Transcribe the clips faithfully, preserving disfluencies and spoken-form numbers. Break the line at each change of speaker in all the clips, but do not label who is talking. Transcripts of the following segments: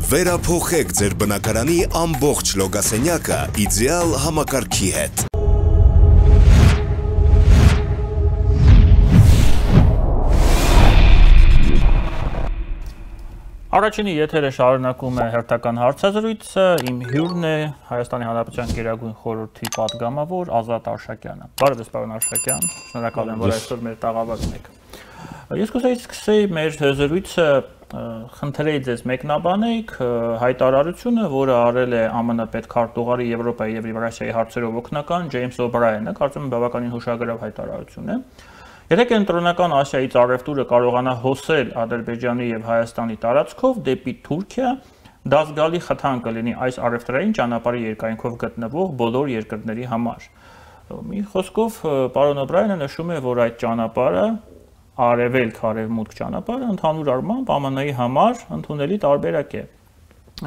Վերափոխեք ձեր բնակարանի ամբողջ լոգասենյակը իդեալ համակարգի հետ։
Առաջինի եթերը շարունակում է հերթական հարցազրույցը, իմ հյուրն է Հայաստանի Հանրապետության Գերագույն խորհրդի պատգամավոր Ազատ Արշակյանը։ Բարև պարոն Արշակյան, շնորհակալ եմ, որ այսօր մեր տաղավարում եք։ Ես կուզեի սկսեի մեր զրույցը խնդրեի ձեզ մեկնաբանեք հայտարարությունը, որը արել է ԱՄՆ պետքարտուղարի Եվրոպայի եւ Եվրասիայի հարցերով օգնական Ջեյմս Օ'Բրայենը, կարծում եմ բավականին հուշագրավ հայտարարություն է։ Եթե կենտրոնական Ասիայից առևտուրը կարողանա հոսել Ադրբեջանի եւ Հայաստանի տարածքով դեպի Թուրքիա, դա զգալի խթան կլինի այս առևտրային ճանապարհի երկայնքով գտնվող բոլոր երկրների համար։ Մի խոսքով պարոն Օ'Բրայենը նշում է, որ այդ ճանապարհը արևելք-արևմուտք ճանապարհը ընդհանուր առմամբ ԱՄՆ-ի համար ընդունելի տարբերակ է։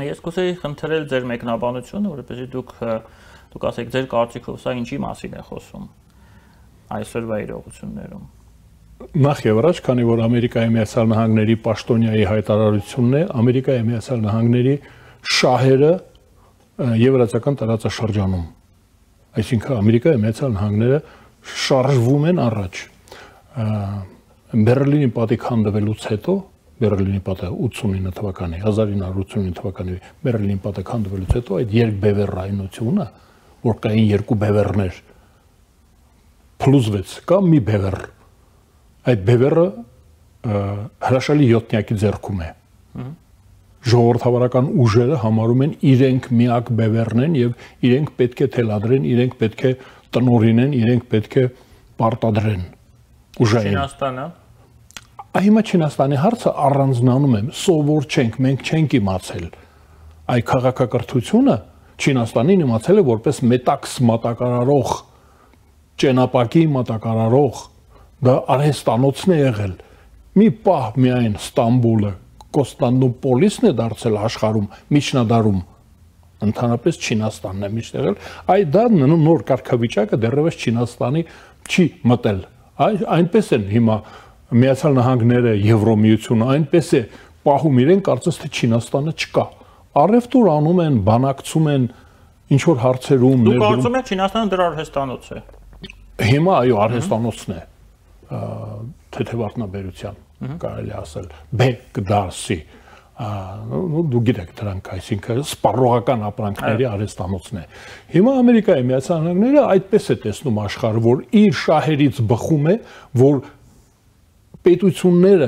Ես կուզեի խնդրել ձեր մեկնաբանությունը, որովհետեւ դուք դուք ասեք ձեր կարծիքով սա ինչի մասին է խոսում այսօրվա իրողություններում։
Նախ եւ առաջ, քանի որ Ամերիկայի Միացյալ Նահանգների պաշտոնյայի հայտարարությունն է, Ամերիկայի Միացյալ Նահանգների շահերը եվրասիական տարածաշրջանում, այսինքն Ամերիկայի Միացյալ Նահանգները շարժվում են առաջ։ Բերլինի պատիք հանդվելուց հետո, Բերլինի պատիքը ութսունինը թվականի, հազար ինը հարյուր ութսունինը թվականի Բերլինի պատիք հանդվելուց հետո այդ երկբևեռայնությունը, որ կային երկու բևեռներ, փլուզվեց կամ մի բևեռ, այդ բևեռը հրաշալի յոթնյակի ձեռքում է։ Ժողովրդավարական ուժերը համարում են իրենք միակ բևեռն են եւ իրենք պետք է թելադրեն, իրենք պետք է տնօրինեն, իրենք պետք է պարտադրեն ուժային։
Չինաստանը։
Հիմա Չինաստանի հարցը առանձնանում է, սովոր չենք, մենք չենք իմացել։ Այդ քաղաքակրթությունը Չինաստանին իմացել է որպես մետաքս մատակարարող, ճենապակի մատակարարող, դա արհեստանոցն է եղել։ Մի պահ միայն Ստամբուլը, Կոստանդնուպոլիսն է դարձել աշխարհում, միջնադարում, ընդհանրապես Չինաստանն է միշտ եղել, այդ դա նոր կարգավիճակը դեռևս Չինաստանի չի մտել։ Այնպես են հիմա Միացյալ Նահանգները, Եվրոմիությունը, այնպես է պահում իրեն, կարծես թե Չինաստանը չկա։ Առևտուր անում են, բանակցում են, ինչ որ հարցերում
ներդրում։ Դուք կարծում եք Չինաստանը դրա արհեստանոց է։
Հիմա այո, արհեստանոցն է, թեթևարտնաբերության, կարելի ասել, բեկ դարսի, դու գիտեք դրանք, այսինքն սպառողական ապրանքների արհեստանոցն է։ Հիմա Ամերիկայի Միացյալ Նահանգները այդպես է տեսնում աշխարհը, որ իր շահերից բխում է, որ պետությունները,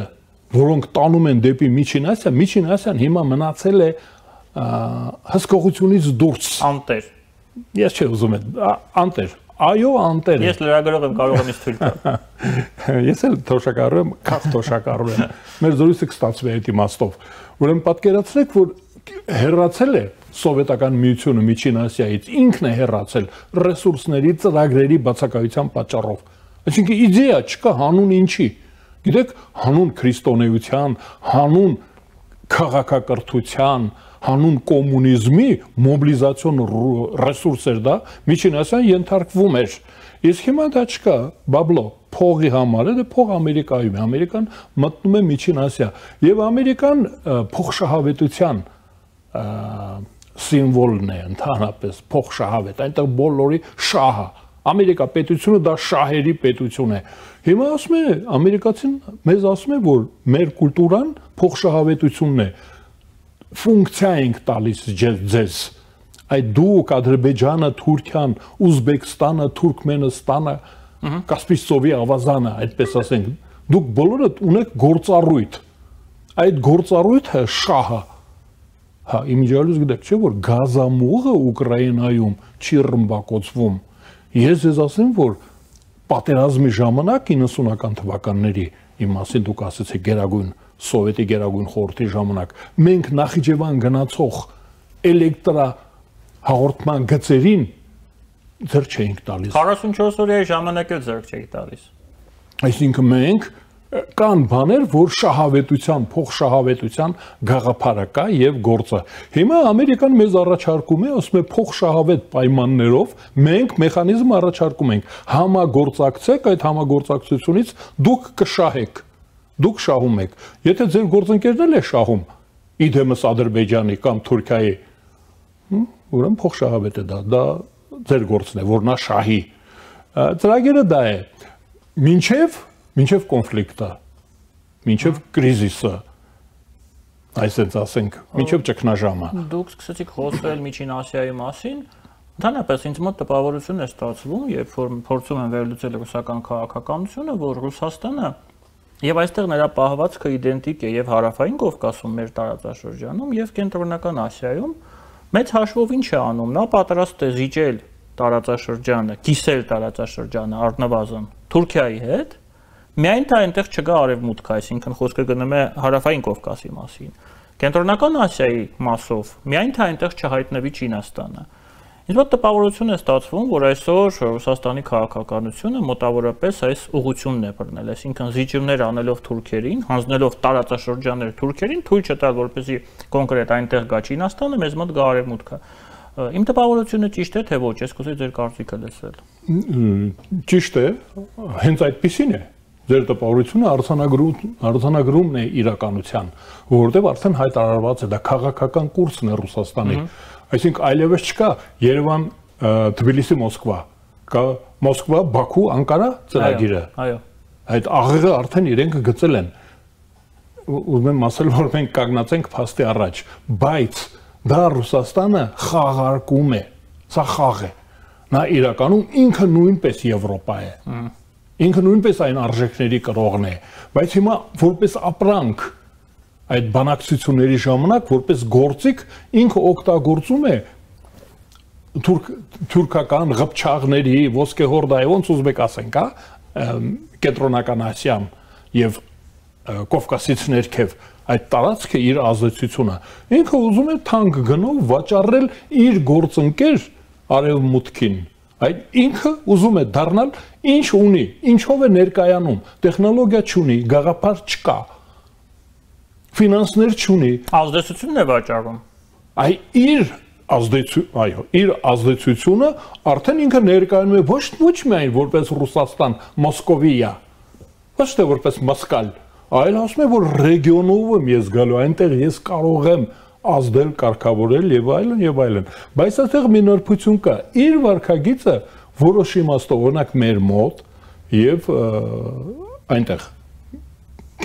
որոնք տանում են դեպի Միջին Ասիա, Միջին Ասիան հիմա մնացել է հսկողությունից դուրս։
Անտեր։
Ես չէ ուզում եմ, անտեր, այո, անտեր է։
Ես լրագրող եմ, կարող եմ ինձ թույլ տալ։
Ես էլ թոշակառու եմ, քաց թոշակառու եմ։ Մեր զրույցը կստացվի այդ իմաստով։ Ուրեմն պատկերացրեք, որ հեռացել է Սովետական միությունը Միջին Ասիայից, ինքն է հեռացել ռեսուրսների, ծրագրերի բացակայության պատճառով։ Այսինքն իդեա չկա հանուն ինչի։ Գիտեք, հանուն քրիստոնեության, հանուն քաղաքակրթության, հանուն կոմունիզմի մոբիլիզացիոն ռեսուրս էր դա, Միջին Ասիան ենթարկվում էր։ Իսկ հիմա դա չկա, բաբլո, փողի համար է, դա փող Ամերիկայում է, Ամերիկան մտնում է Միջին Ասիա, եւ Ամերիկան փողշահավետության սիմվոլն է ընդհանրապես, փողշահավետ, այնտեղ բոլորի շահը, Ամերիկա պետությունը դա շահերի պետություն է։ Հիմա ասում է, ամերիկացին մեզ ասում է, որ մեր կուլտուրան փողշահավետությունն է, ֆունկցիա ենք տալիս ձեզ, այդ դուք Ադրբեջանը, Թուրքիան, Ուզբեկստանը, Թուրքմենստանը, Կասպից ծովի ավազանը, այդպես ասենք, դուք բոլորդ ունեք գործառույթ, այդ գործառույթը շահը, հա, իմիջիալուց գիտեք չէ, որ գազամուղը Ուկրաինայում չի ռմբակոծվում, ես ես ասեմ, որ պատերազմի ժամանակ իննսունական թվականների, իմ մասին դուք ասեցիք գերագույն Սովետի գերագույն խորհրդի ժամանակ, մենք Նախիջևան գնացող էլեկտրա հաղորդման գծերին ձեռք չէինք տալիս։
քառասունչորս օրյա ժամանակը ձեռք չէինք տալիս։
Այսինքն մենք կան բաներ, որ շահավետության, փոխշահավետության գաղափարը կա եւ գործը։ Հիմա Ամերիկան մեզ առաջարկում է, ասում է փոխշահավետ պայմաններով մենք մեխանիզմ առաջարկում ենք, համագործակցեք, այդ համագործակցությունից դուք կշահեք, դուք շահում եք։ Եթե ձեր գործընկերն էլ է շահում, իդեմս Ադրբեջանի կամ Թուրքիայի, ուրեմն փոխշահավետ է դա, դա ձեր գործն է, որ նա շահի։ Ծրագիրը դա է, մինչև, մինչև կոնֆլիկտը, մինչև կրիզիսը, այսպես ասենք, մինչև ճգնաժամը։
Դուք սկսեցիք խոսել Միջին Ասիայի մասին, ընդհանրապես ինձ մոտ տպավորություն է ստացվում, երբ որ փորձում են վերլուծել ռուսական քաղաքականությունը, որ Ռուսաստանը եւ այստեղ նրա պահվածքը իդենտիկ է եւ Հարավային Կովկասում մեր տարածաշրջանում եւ Կենտրոնական Ասիայում մեծ հաշվով ինչ է անում, նա պատրաստ է զիջել տարածաշրջանը, կիսել տարածաշրջանը առնվազն Թուրքիայի հետ, միայն թե այնտեղ չգա արևմուտք, այսինքն խոսքը գնում է Հարավային Կովկասի մասին։ Կենտրոնական Ասիայի մասով միայն թե այնտեղ չհայտնվի Չինաստանը։ Ինձ մոտ տպավորություն է ստացվում, որ այսօր Ռուսաստանի քաղաքականությունը մոտավորապես այս ուղղությունն է բռնել, այսինքն զիջումներ անելով թուրքերին, հանձնելով տարածաշրջաններ թուրքերին, թույլ չտալ, որպեսզի կոնկրետ այնտեղ գա Չինաստանը, մեզ մոտ գա արևմուտքը։ Իմ տպավորությունը ճիշտ է, թե ոչ, ես կուզեի ձեր կարծիքը լսել։
Ճիշտ է, հենց այդպեսին է։ Ձեր տպավորությունը արձանագրումն է իրականության, որովհետև արդեն հայտարարված է, դա քաղաքական կուրսն է Ռուսաստանի։ Այսինքն այլևս չկա Երևան, Թբիլիսի, Մոսկվա, կա Մոսկվա, Բաքու, Անկարա ծրագիրը։
Այո։
Այդ աղեղը արդեն իրենք գծել են։ Ուզում եմ ասել, որ մենք կանգնած ենք փաստի առաջ, բայց դա Ռուսաստանը խաղարկում է, սա խաղ է։ Նա իրականում ինքը նույնպես Եվրոպա է։ Ինքը նույնպես այն արժեքների կրողն է, բայց հիմա որպես ապրանք այդ բանակցությունների ժամանակ որպես գործիք ինքը օգտագործում է թուրքական ղփչաղների, ոսկեհորդայի, ոնց ուզբեք ասենք, հա, Կենտրոնական Ասիան եւ Կովկասից ներքև այդ տարածքը իր ազդեցությունը։ Ինքը ուզում է թանկ գնով վաճառել իր գործընկեր արևմուտքին։ Այդ ինքը ուզում է դառնալ ինչ ունի, ինչով է ներկայանում, տեխնոլոգիա չունի, գաղափար չկա, ֆինանսներ չունի,
ազդեցությունն է վաճառում։
Այ իր ազդեցություն, այո, իր ազդեցությունը արդեն ինքը ներկայանում է ոչ ոչ միայն որպես Ռուսաստան, Մոսկովիա, ոչ թե որպես Մոսկալ, այլ ասում է, որ ռեգիոնով եմ ես գալու, այնտեղ ես կարող եմ ազդել, կարգավորել եւ այլն եւ այլն, բայց այդտեղ մի նրբություն կա, իր վարքագիծը որոշ իմաստով, օրինակ մեր մոտ եւ այնտեղ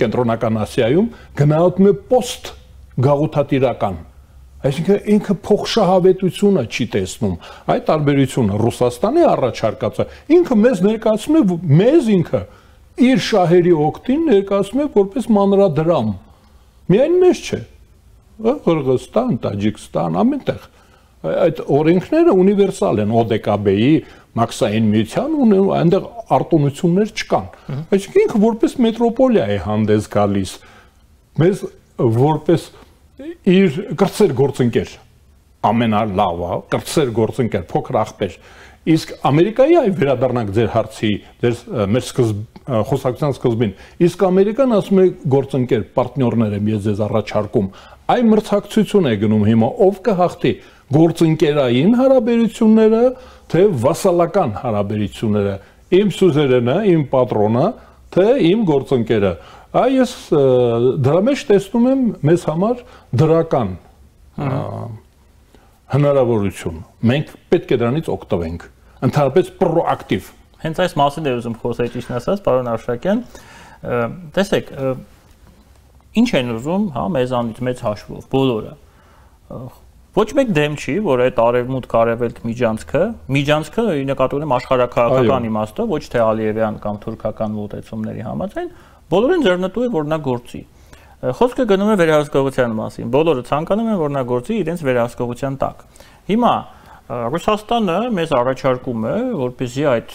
Կենտրոնական Ասիայում գնահատում է պոստ գաղութատիրական, այսինքն ինքը փոխշահավետությունը չի տեսնում, այդ տարբերությունը Ռուսաստանի առաջարկածը ինքը մեզ ներկայացնում է, մեզ ինքը իր շահերի օգտին ներկայացնում է որպես մանրադրամ, միայն մեզ չէ, Qırğızstan, Տաջիկստան, ամենտեղ այդ օրենքները ունիվերսալ են, O D K B-ի, մաքսային միության ու այնտեղ արտոնություններ չկան։ Այսինքն ինքը որպես մետրոպոլիա է հանդես գալիս, մեզ որպես իր կրտսեր գործընկեր, ամենալավը, կրտսեր գործընկեր, փոքր աղբեր։ Իսկ Ամերիկայի այ վերադառնանք ձեր հարցի, ձեր մեր խոսակցության սկզբին, իսկ Ամերիկան ասում է գործընկեր, պարտներներ եմ ես ձեզ առաջարկում, այ մրցակցություն է գնում հիմա, ով կհաղթի գործընկերային հարաբերությունները, թե վասալական հարաբերությունները, իմ սուզերենը, իմ պատրոնը, թե իմ գործընկերը։ Այ ես դրա մեջ տեսնում եմ մեզ համար դրական հնարավորություն։ Մենք պետք է դրանից օգտվենք, ընդհանրապես պրոակտիվ։
Հենց այս մասին է ուզում խոսել, ճիշտ ասած, պարոն Արշակյան, տեսեք, ինչ են ուզում, հա, մեզանից մեծ հաշվով, բոլորը։ Ոչ մեկ դեմ չի, որ այդ արևմուտք-արևելք միջանցքը, միջանցքը նկատի ունեմ աշխարհաքաղաքական իմաստով, ոչ թե Ալիևյան կամ թուրքական մոտեցումների համաձայն, բոլորին ձեռնտու է, որ նա գործի։ Խոսքը գնում է վերահսկողության մասին, բոլորը ցանկանում են, որ նա գործի իրենց վերահսկողության տակ։ Հիմա Ռուսաստանը մեզ առաջարկում է, որպեսզի այդ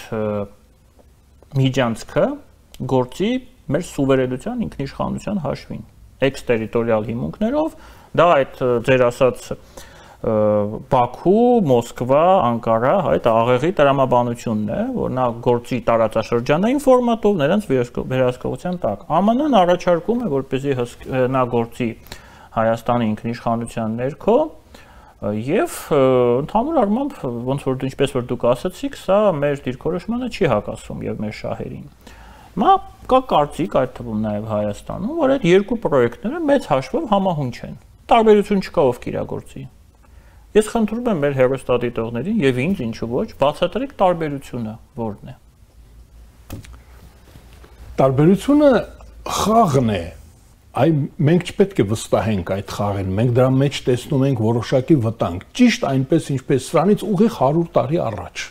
միջանցքը գործի մեր սուվերենության, ինքնիշխանության հաշվին, էքստերիտորիալ հիմունքներով, դա այդ ձեր ասած Բաքու, Մոսկվա, Անկարա, այդ աղեղի տրամաբանությունն է, որ նա գործի տարածաշրջանային ֆորմատով նրանց վերահսկողության տակ։ Ամն Ան առաջարկում է, որպեսզի նա գործի Հայաստանի ինքնիշխանության ներքո եւ ընդհանուր առմամբ ոնց որ ինչպես որ դուք ասացիք, սա մեր դիրքորոշմանը չի հակասում եւ մեր շահերին։ Հիմա կա կարծիք այդ թվում նաեւ Հայաստանում, որ այդ երկու պրոյեկտները մեծ հաշվով համահունչ են։ տարբերություն չկա ով կիրագործի։ Ես խնդրում եմ մեր հեռուստադիտողներին եւ ինձ ինչու ոչ, բացատրեք տարբերությունը որն է։
Տարբերությունը խաղն է։ Այ մենք չպետք է վստահենք այդ խաղին, մենք դրա մեջ տեսնում ենք որոշակի վտանգ, ճիշտ այնպես ինչպես սրանից ուղիղ հարյուր տարի առաջ։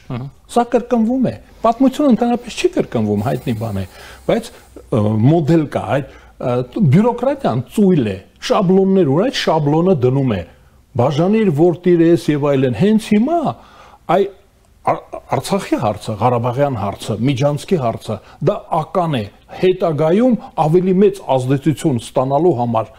Սա կրկնվում է։ Պատմությունը ընդհանրապես չի կրկնվում, հայտնի բան է, բայց մոդել կա, այդ բյուրոկրատիան ծույլ է, շաբլոններ ու այդ շաբլոնը դնում է։ Բաժանիր որտիր ես եւ այլն, հենց հիմա այ Արցախի հարցը, Ղարաբաղյան հարցը, Միջանցքի հարցը, դա ական է, հետագայում ավելի մեծ ազդեցություն ստանալու համար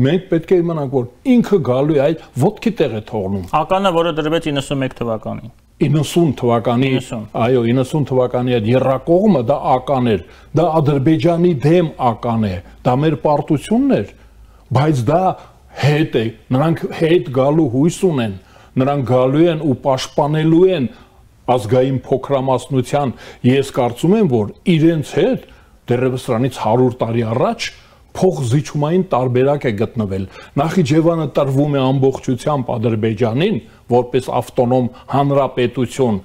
մենք պետք է իմանանք, որ ինքը գալու է այդ ոտքի տեղ է թողնում։
Ականը, որը դրվեց իննսունմեկ թվականին։
իննսուն թվականի, այո, իննսուն թվականի այդ եռակողմը դա ական էր, դա Ադրբեջանի դեմ ական է, դա մեր պարտությունն էր, բայց դա հետ է, նրանք հետ գալու հույս ունեն, նրանք գալու են ու պաշտպանելու են ազգային փոքրամասնության, ես կարծում եմ, որ իրենց հետ դեռևս սրանից հարյուր տարի առաջ փոխզիջումային տարբերակ է գտնվել։ Նախիջևանը տրվում է ամբողջությամբ Ադրբեջանին որպես ավտոնոմ հանրապետություն,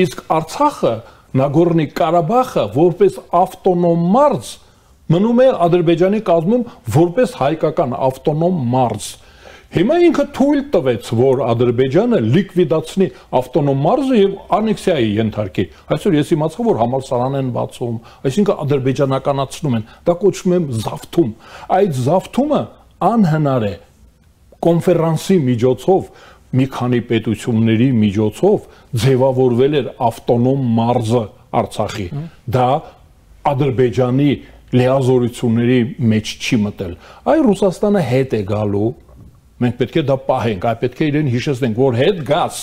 իսկ Արցախը, Նագորնի Ղարաբաղը որպես ավտոնոմ մարզ մնում է Ադրբեջանի կազմում որպես հայկական ավտոնոմ մարզ։ Հիմա ինքը թույլ տվեց, որ Ադրբեջանը լիկվիդացնի ավտոնոմ մարզը եւ անեքսիայի ենթարկի։ Այսօր ես իմացա, որ համալսարան են բացում, այսինքն ադրբեջանականացնում են, դա կոչվում է զավթում։ Այդ զավթումը անհնար է կոնֆերանսի միջոցով, մի քանի պետությունների միջոցով ձևավորվել էր ավտոնոմ մարզը Արցախի։ Դա Ադրբեջանի լիազորությունների մեջ չի մտել։ Այ Ռուսաստանը հետ է գալու, մենք պետք է դա պահենք, այ պետք է իրեն հիշեցնենք, որ հետ գաս,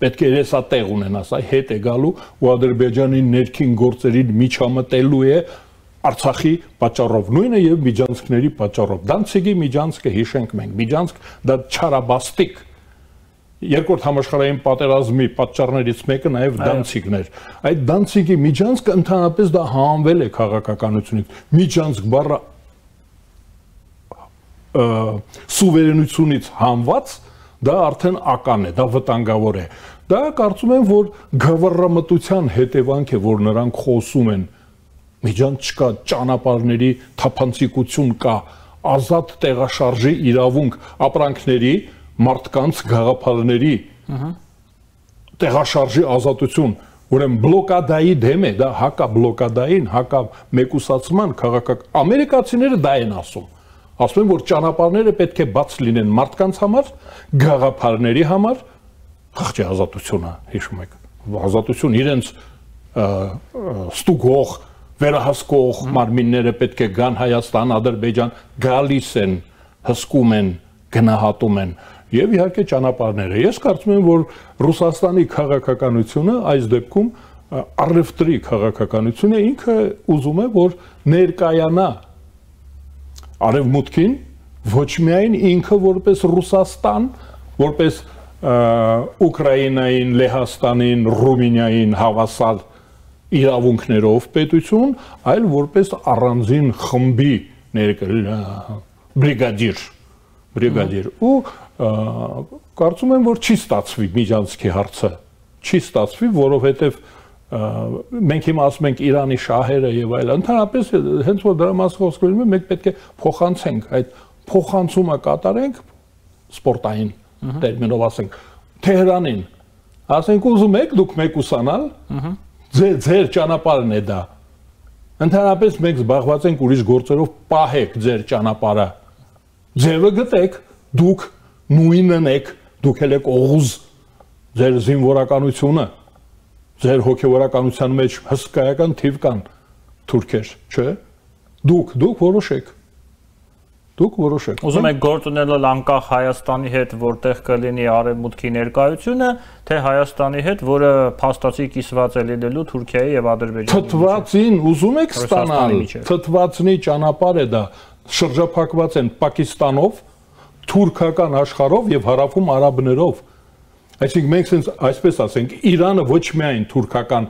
պետք է երեսա տեղ ունենաս, այ հետ է գալու ու Ադրբեջանի ներքին գործերին միջամտելու է Արցախի պատճառով, նույնը եւ Միջանցքների պատճառով։ Դանցիգի Միջանցքը հիշենք մենք, Միջանցք դա չարաբաստիկ երկրորդ համաշխարհային պատերազմի պատճառներից մեկը նաեւ Դանցիգն էր։ Այդ Դանցիգի Միջանցքը ընդհանրապես դա հանվել է քաղաքականությունից։ Միջանցք բառը սուվերենությունից հանված, դա արդեն ական է, դա վտանգավոր է։ Դա կարծում եմ, որ գավառամտության հետևանք է, որ նրանք խոսում են։ Միջանց չկա, ճանապարհների թափանցիկություն կա, ազատ տեղաշարժի իրավունք, ապրանքների, մարդկանց, գաղափարների տեղաշարժի ազատություն, ուրեմն բլոկադայի դեմ է, դա հակա բլոկադային, հակա մեկուսացման քաղաքական ամերիկացիները դա են ասում։ Ասում են, որ ճանապարհները պետք է բաց լինեն մարդկանց համար, գաղափարների համար, խղճի ազատությունը, հիշում եք, ազատություն իրենց ստուգող, վերահսկող մարմինները պետք է գան Հայաստան, Ադրբեջան, գալիս են, հսկում են, գնահատում են եւ իհարկե ճանապարհները։ Ես կարծում եմ, որ Ռուսաստանի քաղաքականությունը այս դեպքում առևտրի քաղաքականությունը ինքը ուզում է, որ ներկայանա Արևմուտքին ոչ միայն ինքը որպես Ռուսաստան, որպես Ուկրաինային, Լեհաստանին, Ռումինիային հավասար իրավունքներով պետություն, այլ որպես առանձին խմբի բրիգադիր, բրիգադիր ու կարծում եմ, որ չի ստացվի Միջանցքի հարցը, չի ստացվի, որովհետև մենք հիմա ասում ենք Իրանի շահերը եւ այլն, ընդհանրապես հենց որ դրա մասը խոսք գնում է, մենք պետք է փոխանցենք, այդ փոխանցումը կատարենք սպորտային տերմինով ասենք Թեհրանին, ասենք ուզում եք դուք մեկուսանալ, ձեր ձեր ճանապարհն է դա։ Ընդհանրապես մենք զբաղված ենք ուրիշ գործերով, պահեք ձեր ճանապարհը։ Ձևը գտեք, դուք նույնն եք, դուք եք օղուզ ձեր զինվորականությունը Ձեր հոգևորականության մեջ հսկայական թիվ կան թուրքեր, չէ՞։ Դուք, դուք որոշեք։ Դուք որոշեք։
Ուզում եք գործ ունենալ անկախ Հայաստանի հետ, որտեղ կլինի արևմուտքի ներկայությունը, թե Հայաստանի հետ, որը փաստացի կիսված է լինելու Թուրքիայի եւ Ադրբեջանի միջեւ։
Թթվածին ուզում եք ստանալ, թթվածնի ճանապարհ է դա, շրջափակված են Պակիստանով, թուրքական աշխարհով եւ հարավում արաբներով։ Այսինքն մենք sense այսպես ասենք Իրանը ոչ միայն թուրքական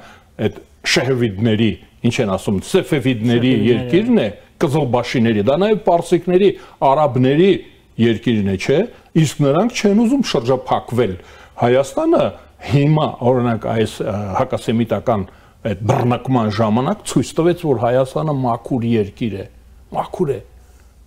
այդ շեհվիդների, ինչ են ասում, սեֆևիդների երկիրն է, կզլբաշիների, դա նաև պարսիկների, արաբների երկիրն է, չէ, իսկ նրանք չեն ուզում շրջափակվել։ Հայաստանը հիմա օրինակ այս հակասեմիտական այդ բռնակման ժամանակ ցույց տվեց, որ Հայաստանը մաքուր երկիր է, մաքուր է։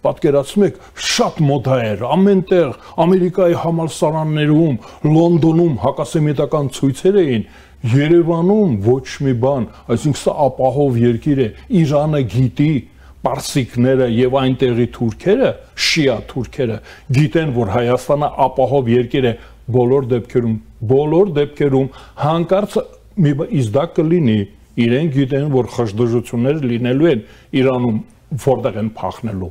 Պատկերացնում եք, շատ մոդա էր, ամենտեղ Ամերիկայի համալսարաններում, Լոնդոնում հակասեմիտական ցույցեր էին, Երևանում ոչ մի բան, այսինքն սա ապահով երկիր է, Իրանը գիտի, պարսիկները եւ այնտեղի թուրքերը, շիա թուրքերը գիտեն, որ Հայաստանը ապահով երկիր է բոլոր դեպքերում, բոլոր դեպքերում հանկարծ մի իզդա կլինի, իրենք գիտեն, որ խժդժություններ լինելու են Իրանում, որտեղ են փախնելու,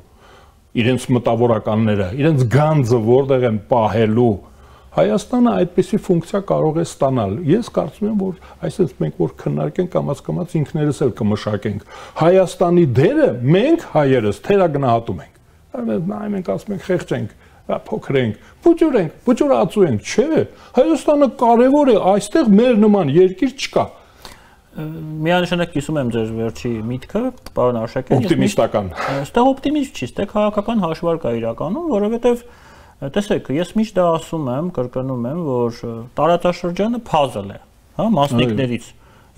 իրենց մտավորականները, իրենց գանձը որտեղ են պահելու։ Հայաստանը այդպիսի ֆունկցիա կարող է ստանալ։ Ես կարծում եմ, որ այսպես մենք որ քննարկենք կամաց-կամաց ինքներս էլ կմշակենք։ Հայաստանի դերը մենք հայերս թերագնահատում ենք։ Նայ մենք ասում ենք խեղճ ենք, փոքր ենք, բուջուր ենք, բուջուրացու ենք, չէ։ Հայաստանը կարևոր է, այստեղ մեր նման երկիր չկա։
Միանշանակ կիսում եմ ձեր վերջի միտքը, պարոն Արշակյան։
Օպտիմիստական։
Այստեղ օպտիմիզմ չի, այստեղ քաղաքական հաշվարկ է իրականում, որովհետև տեսեք, ես միշտ դա ասում եմ, կրկնում եմ, որ տարածաշրջանը puzzle է, հա, մասնիկներից։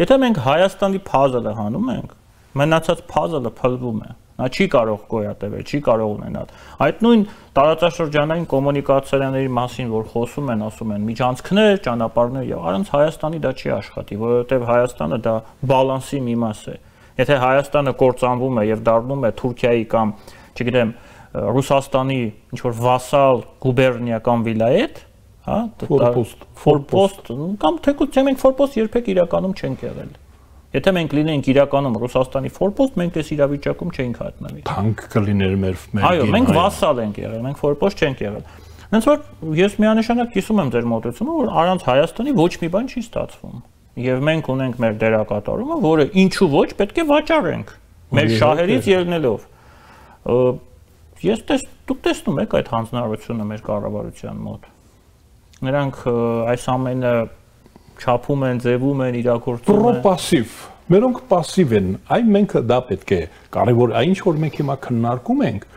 Եթե մենք Հայաստանի puzzle-ը հանում ենք, մնացած puzzle-ը փլվում է։ Նա չի կարող գոյատևել, չի կարող ունենալ։ Այդ նույն տարածաշրջանային կոմունիկացիաների մասին, որ խոսում են, ասում են միջանցքներ, ճանապարհներ, եւ առանց Հայաստանի դա չի աշխատի, որովհետեւ Հայաստանը դա բալանսի մի մաս է։ Եթե Հայաստանը կործանվում է եւ դառնում է Թուրքիայի կամ, չգիտեմ, Ռուսաստանի ինչ-որ վասալ գուբերնիա կամ վիլայետ, հա,
ֆորպոստ,
ֆորպոստ կամ թեկուզ մենք ֆորպոստ երբեք իրականում չենք եղել։ Եթե մենք լինենք իրականում Ռուսաստանի ֆորպոստ, մենք այս իրավիճակում չենք հայտնվի։
Թանկ կլիներ մեր մեր։
Այո, մենք վասալ ենք եղել, մենք ֆորպոստ չենք եղել։ Հենց որ ես միանշանակ կիսում եմ ձեր մոտեցումը, որ առանց Հայաստանի ոչ մի բան չի ստացվում։ Եվ մենք ունենք մեր դերակատարումը, որը ինչու ոչ պետք է վաճառենք մեր շահերից ելնելով։ Ես տես դուք տեսնում եք այդ հանձնարարությունը մեր կառավարության մոտ։ Նրանք այս ամենը չափում են, ձևում են, իրագործում են։ Պրոպասիվ,
մերոնք պասիվ են, այ մենք դա պետք է կարևոր, այն ինչ որ մենք հիմա քննարկում ենք,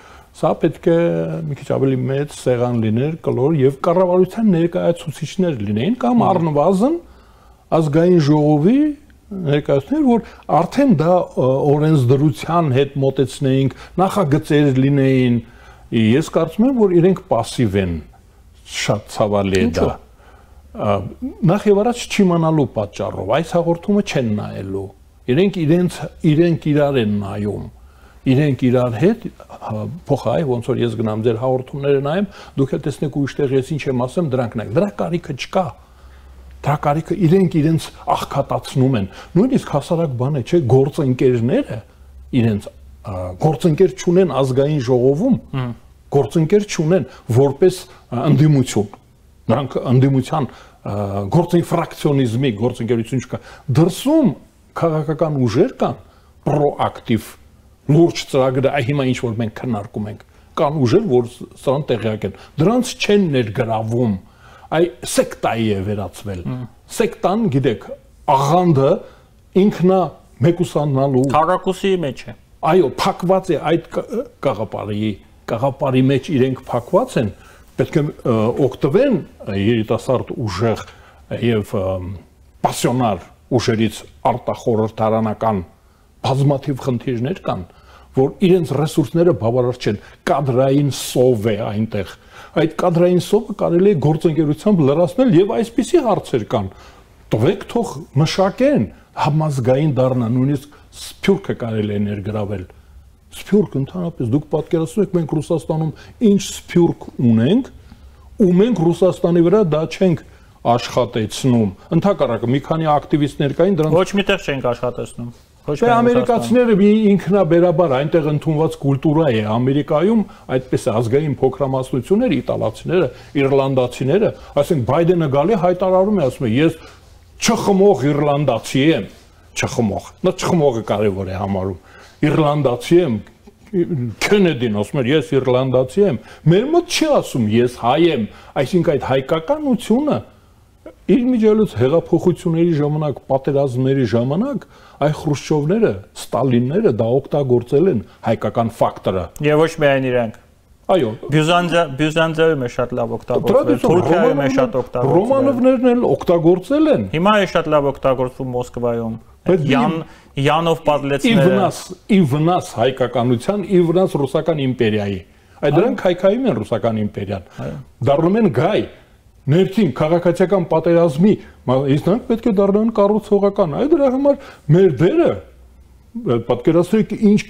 սա պետք է մի քիչ ավելի մեծ սեղան լիներ, կլոր եւ կառավարության ներկայացուցիչներ լինեին կամ առնվազն ազգային ժողովի ներկայացուցիչներ, որ արդեն դա օրենսդրության հետ մոտեցնեինք, նախագծեր լինեին։ Ես կարծում եմ, որ իրենք պասիվ են, շատ ցավալի է դա։ Նախ եւ առաջ չիմանալու պատճառով այս հաղորդումը չեն նայելու։ Իրենք իրենց իրենք իրար են նայում։ Իրենք իրար հետ փոխայ ոնց որ ես գնամ ձեր հաղորդումները նայեմ, դուք էլ տեսնեք ուրիշտեղ ես ինչ եմ ասեմ, դրանք նայեք։ Դրա կարիքը չկա։ Դրա կարիքը իրենք իրենց աղքատացնում են։ Նույնիսկ հասարակ բան է, չէ, գործընկերները իրենց գործընկեր չունեն ազգային ժողովում, գործընկեր չունեն որպես ընդդիմություն։ Նրանք ընդդիմության գործին ֆրակցիոնիզմի գործընկերություն չկա։ Դրսում քաղաքական ուժեր կան, պրոակտիվ լուրջ ծրագրեր, այ հիմա ինչ որ մենք քննարկում ենք, կան ուժեր, որ սրան տեղյակ են։ Դրանց չեն ներգրավում, այ սեկտայի է վերածվել։ Սեկտան, գիտեք, աղանդը ինքնա մեկուսանալու
քարակուսի մեջ է։
Այո, փակված է այդ կաղապարի, կաղապարի մեջ իրենք փակված են։ Պետք է օգտվեն երիտասարդ ուժեղ եւ պասիոնար ուժերից արտախորհրդարանական բազմաթիվ խնդիրներ կան, որ իրենց ռեսուրսները բավարար չեն, կադրային սով է այնտեղ։ Այդ կադրային սովը կարելի է գործընկերությամբ լրացնել եւ այսպիսի հարցեր կան։ Տվեք թող մշակեն, համազգային դառնա, նույնիսկ սփյուռքը կարելի է ներգրավել։ Սփյուռք ընդհանրապես դուք պատկերացնում եք մենք Ռուսաստանում ինչ սփյուռք ունենք ու մենք Ռուսաստանի վրա դա չենք աշխատեցնում։ Ընդհակառակը մի քանի ակտիվիստներ կային դրանց
ոչ միտեղ չենք աշխատեցնում։ Ոչ
մի ամերիկացիները մի ինքնաբերաբար այնտեղ ընդունված կուլտուրա է Ամերիկայում այդպես ազգային փոքրամասնություններ, իտալացիները, իռլանդացիները, ասենք Բայդենը գալի հայտարարում է, ասում է ես չխմող իռլանդացի եմ, չխմող։ Նա չխմողը կարևոր է համարում։ Իռլանդացի եմ, Քենեդին ասում էր ես իռլանդացի եմ, մեր մոտ չի ասում ես հայ եմ, այսինքն այդ հայկականությունը Իմիջիալից հեղափոխությունների ժամանակ, պատերազմների ժամանակ այ Խրուշչովները, Ստալինները դա օգտագործել են հայկական ֆակտորը։
Եվ ոչ միայն իրենք։
Այո,
Բյուզանդիայում է շատ լավ օգտագործվել, Թուրքիայում է շատ օգտագործվել։
Ռոմանովներն էլ օգտագործել են։
Հիմա է շատ լավ օգտագործվում Մոսկվայում։ Յան Յանով պատլեցները։
Իվնաս, իվնաս հայկականության, իվնաս ռուսական իմպերիայի։ Այդ դրանք հայկայում են ռուսական իմպերիան։ Դառնում են գայ, ներքին քաղաքացիական պատերազմի, իսկ նրանք պետք է դառնան կառուցողական։ Այդ դրա համար մեր դերը պատկերացրեք ինչ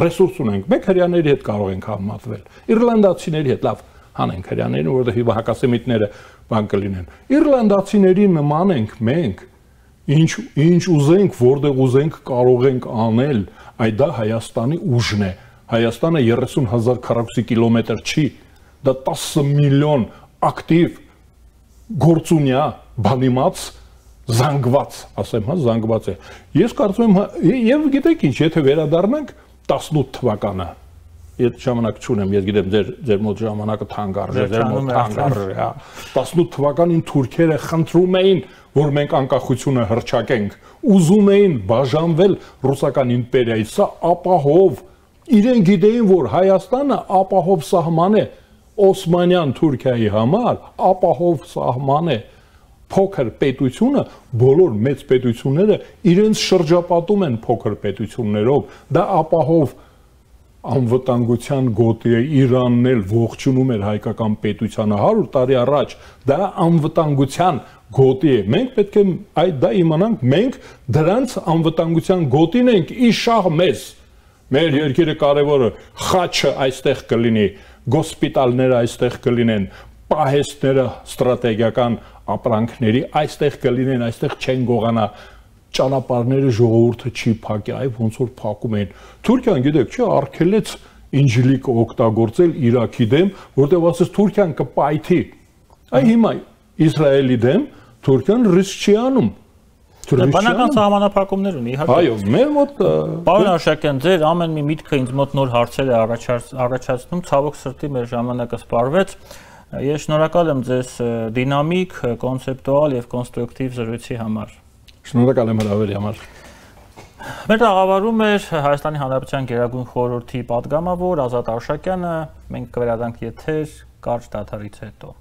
ռեսուրս ունենք։ Մենք հрьяաների հետ կարող ենք համատվել։ Իռլանդացիների հետ լավ հանենք հрьяաներին, որովհետեւ հիմա հակասեմիտները բան կլինեն։ Իռլանդացիների նման ենք մենք։ Ինչ ինչ ուզենք, որտեղ ուզենք կարող ենք անել, այդ դա Հայաստանի ուժն է։ Հայաստանը երեսուն հազար քառակուսի կիլոմետր չի, դա տասը միլիոն ակտիվ գործունյա, բանիմաց, զանգված, ասեմ, հա, զանգված է։ Ես կարծում եմ, եւ գիտեք ինչ, եթե վերադառնանք տասնութ թվականը, այդ ժամանակ չունեմ, ես գիտեմ ձեր ձեր մոտ ժամանակը թանկարժ է, ձեր մոտ թանկարժ է, հա։ տասնութ թվականին թուրքերը խնդրում էին, որ մենք անկախությունը հռչակենք, ուզում էին բաժանվել ռուսական իմպերիայից, սա ապահով, իրեն գիտեին, որ Հայաստանը ապահով սահման է Օսմանյան Թուրքիայի համար, ապահով սահման է, փոքր պետությունը, բոլոր մեծ պետությունները իրենց շրջապատում են փոքր պետություններով, դա ապահով անվտանգության գոտի է, Իրանն էլ ողջունում էր հայկական պետությանը հարյուր տարի առաջ, դա անվտանգության գոտի է, մենք պետք է այդ դա իմանանք, մենք դրանց անվտանգության գոտին ենք իշահ մեզ, մեր երկիրը կարևորը, խաչը այստեղ կլինի, գոսպիտալները այստեղ կլինեն, պահեստները ստրատեգիական ապրանքների այստեղ կլինեն, այստեղ չեն գողանա, ճանապարհները ժողովուրդը չի փակի, այ ոնց որ փակում են։ Թուրքիան գիտեք, չէ, արգելեց ինջիլիկը օգտագործել Իրաքի դեմ, որտեղ ասես Թուրքիան կպայթի։ Այ հիմա Իսրայելի դեմ Թուրքիան ռիսկ չի անում։
Բանական սահմանափակումներ ունի, իհարկե։
Այո, մեր մոտ
Պարոն Արշակյան, ձեր ամեն մի միտքը ինձ մոտ նոր հարցեր է առաջացնում, ցավոք սրտի մեր ժամանակը սպառվեց։ Ես շնորհակալ եմ ձեզ դինամիկ, կոնցեպտուալ եւ կոնստրուկտիվ զրույցի համար։
Շնորհակալ եմ հրավերի համար։
Մեր ղեկավարում էր Հայաստանի Հանրապետության Գերագույն խորհրդի պատգամավոր Ազատ Արշակյանը, մենք կվերադառնանք եթեր կարճ դադարից հետո։